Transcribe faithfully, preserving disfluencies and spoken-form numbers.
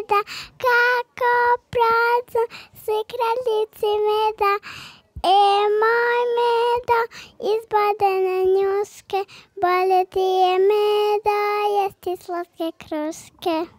meda, kako prazno svi kraljici meda. E moj medo, iz bodene njuške, bolje ti je meda, jesti slatke kruške.